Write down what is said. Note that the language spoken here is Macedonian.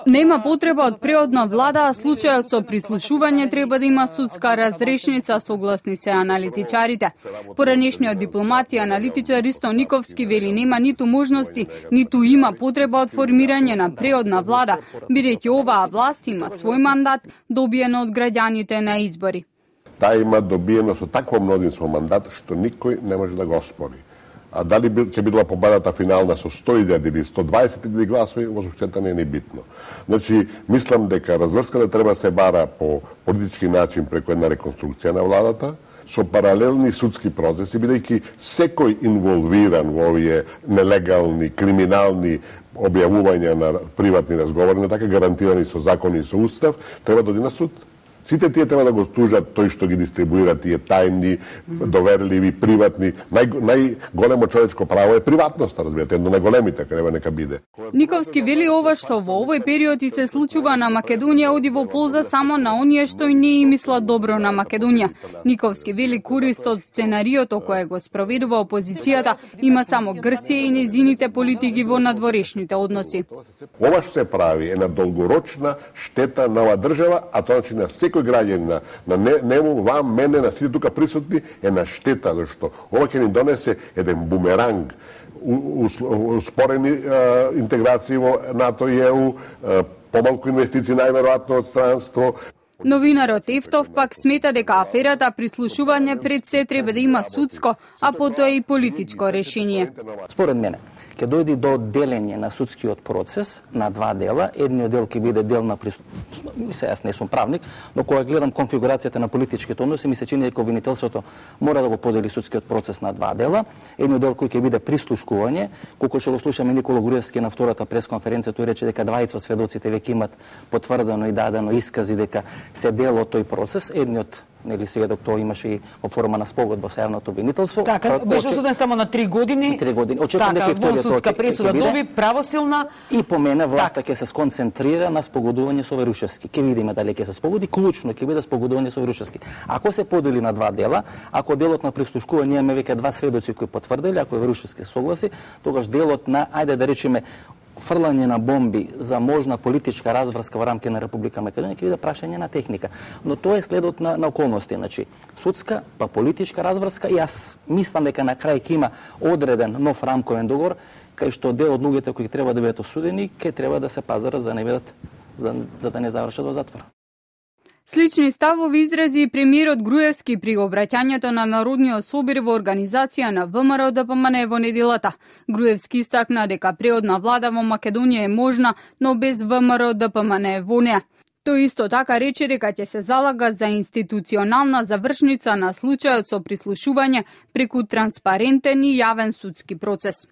Нема потреба од преодна влада, а случајот со прислушување треба да има судска разрешница, согласни се аналитичарите. Поранешниот дипломат и аналитичар Ристо Никовски вели нема ниту можности, ниту има потреба од формирање на преодна влада, бидејќи оваа власт има свој мандат добиено од граѓаните на избори. Таа има добиено со такво мнозинство мандат што никој не може да го оспори. А дали ќе бидела победата финална со 100.000 или 120.000 гласови, воопшто не е ни битно. Значи, мислам дека разврската треба да се бара по политички начин преку една реконструкција на владата, со паралелни судски процеси, бидејќи секој инволвиран во овие нелегални, криминални објавувања на приватни разговори, така гарантирани со закони и со устав, треба да оди на суд. Сите тие треба да го тужат тој што ги дистрибуира тие тајни, доверливи, приватни. Најголемо човечко право е приватноста, разбирате, едно на големите, треба нека биде. Никовски вели ова што во овој период и се случува на Македонија оди во полза само на оние што и не мислат добро на Македонија. Никовски вели корист од сценариото кое го спроведува опозицијата има само Грција и незините политики во надворешните односи. Ова што се прави е на долгорочна штета на оваа држава, а тоа значи на секој граѓанин, на нему, вам, мене, на сите тука присутни, е на штета, зашто ова ќе ни донесе еден бумеранг, успорени интеграции во НАТО и ЕУ, помалку инвестиции најверојатно од странство. Новинарот Ефтов пак смета дека аферата прислушување пред се треба да има судско, а потоа и политичко решение. Според мене, ќе дојде до делење на судскиот процес на два дела. Едниот дел ќе биде дел на јас не сум правник, но кога гледам конфигурацијата на политичките односи, ми се чини дека обвинителството мора да го подели судскиот процес на два дела. Едниот дел кој ќе биде прислушкување, колку што го слушаме Никола Груевски на втората пресконференција, тој рече дека двајца од сведоците веќе имат потврдено и дадено искази дека се дел од тој процес. Едниот сведок тоа имаше и во форма на спогодба со јавното обвинителство. Така, беше осуден само на 3 години. 3 години. Очекувам дека вториот судска пресуда доби правосилна. И по мене власта ќе се сконцентрира на спогодување со Верушевски. Ќе видиме дали ќе се спогоди, клучно ќе биде спогодување со Верушевски. Ако се подели на два дела, ако делот на прислушкување имаме веќе два сведоци кои потврдили, ако Верушевски се согласи, тогаш делот на, ајде да речеме, фрлање на бомби за можна политичка разврска во рамки на Република Македонија ќе биде прашање на техника. Но тоа е следот на околности, значи судска па политичка разврска и јас мислам дека на крај ќе има одреден нов рамковен договор кај што дел од луѓето кои треба да бидат осудени ќе треба да се пазарат за да не завршат во затвор. Слични ставови изрази и премиерот Груевски при обраќањето на Народниот собир во организација на ВМРО ДПМН во неделата. Груевски истакна дека преодна влада во Македонија е можна, но без ВМРО ДПМН во неа. Тој исто така рече дека ќе се залага за институционална завршница на случајот со прислушување преку транспарентен и јавен судски процес.